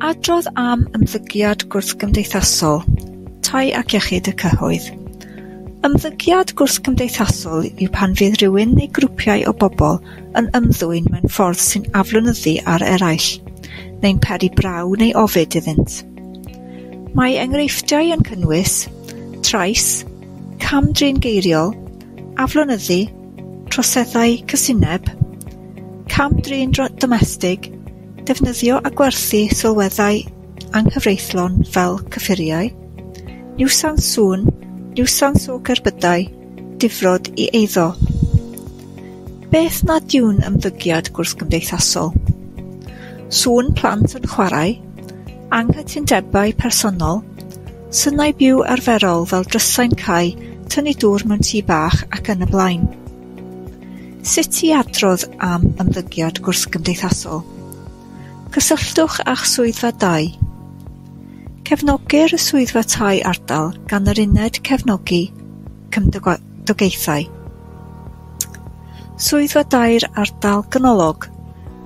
Adrodd am ymddygiad gwrthgymdeithasol, tai ac iechyd y cyhoedd. Ymddygiad gwrthgymdeithasol yw pan fydd rhywun neu grwpiau o bobl yn ymddwyn mewn ffordd sy'n aflonyddu ar eraill, neu'n peri braw neu ofid iddynt. Mae enghreifftiau yn cynnwys trais, cam-drin geiriol, aflonyddu, troseddau casineb, cam-drin domestig, defnyddio a gwerthu sylweddau anghyfreithlon fel cyffuriau, niwsans sŵn, niwsans o gerbydau, difrod i eiddo. Beth nad yw'n ymddygiad gwrthgymdeithasol? Sŵn plant yn chwarae, anghytundebau personol, synau byw arferol fel drysau'n cau, tynnu dŵr mewn tŷ bach ac yn y blaen. Sut i adrodd am ymddygiad gwrthgymdeithasol? Cysylltwch â'ch swyddfa dai. Cefnogir y swyddfa tai ardal gan yr uned cefnogi cymdogaethau. Swyddfa dai'r ardal ganolog.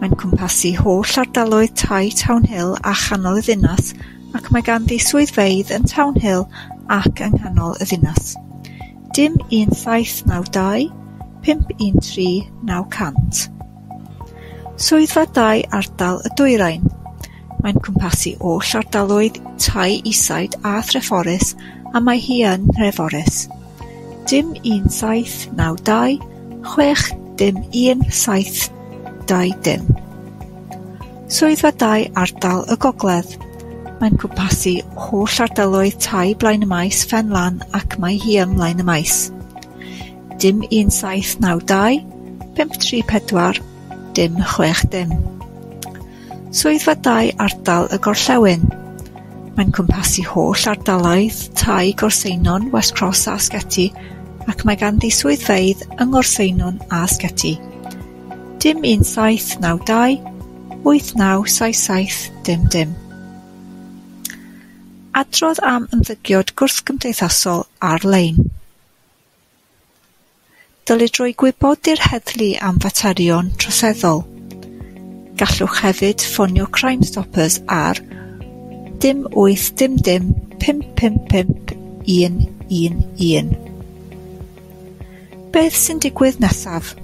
Mae'n cwmpasu holl ardaloedd tai Townhill a chanol y ddinas ac mae ganddi swyddfeydd yn Townhill ac yng nghanol y ddinas. Dim 1792 513 900. Swyddfa dai ardal y Dwyrain. Mae'n cwmpasu holl ardaloedd tai Eastside a Threforys a mae hi yn Nhreforys. Dim 1792 6 dim 1 7 2 dim. Swyddfa dai ardal y Gogledd. Mae'n cwmpasu holl ardaloedd tai Blaen y Maes, Ffen Lan ac mae hi ym Mlaen y Maes. Dim 1792 534 dim 6 dim. Swyddfa dai ardal y Gorllewin. Mae'n cwmpasu holl ardaloedd tai Gorseinon, West Cross a Sgeti ac mae ganddi swyddfeydd yng Ngorseinon a Sgeti. Dim 1792 8977 dim dim. Adrodd am ymddygiad gwrthgymdeithasol ar-lein. Dylid rhoi gwybod i'r heddlu am faterion troseddol. Gallwch hefyd ffonio Crime Stoppers ar dim 8 dim dim 5 5 5 1 1 1. Beth sy'n digwydd nesaf?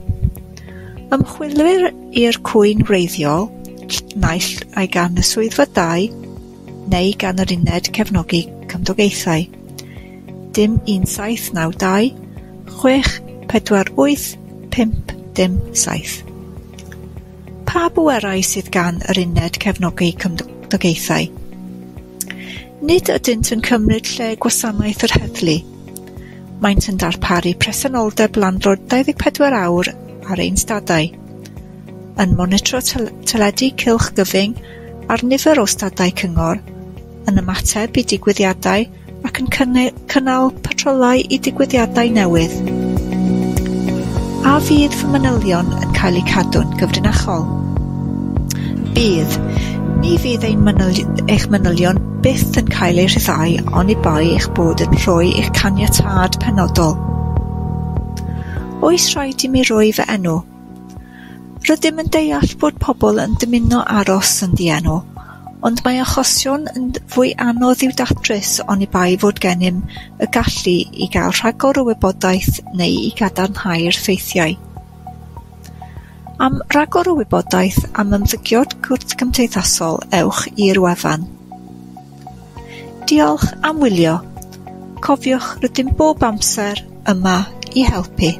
Ymchwilwyr i'r cwyn wreiddiol, naill ai gan y swyddfa dai neu gan yr uned cefnogi cymdogaethau. Dim 1792 6 4 8 5 dim 7. Pa bwerau sydd gan yr uned cefnogi cymdogaethau? Nid ydynt yn cymryd lle gwasanaeth yr heddlu. Maent yn darparu presenoldeb landlord 24 awr ar ein stadau, yn monitro teledu cylch gyfyng ar nifer o stadau cyngor, yn ymateb i digwyddiadau ac yn cynnal patrolau i digwyddiadau newydd. A fydd fy manylion yn cael eu cadw'n gyfrinachol? Bydd. Ni fydd ein eich manylion byth yn cael eu rhyddhau oni bai eich bod yn rhoi eich caniatâd penodol. Oes rhaid i mi roi fy enw? Rydym yn deall bod pobl yn dymuno aros yn ddienw, ond mae achosion yn fwy anodd i'w datrys oni bai fod gennym y gallu i gael rhagor o wybodaeth neu i gadarnhau'r ffeithiau. Am ragor o wybodaeth am ymddygiad gwrthgymdeithasol, ewch i'r wefan. Diolch am wylio. Cofiwch, rydym bob amser yma i helpu.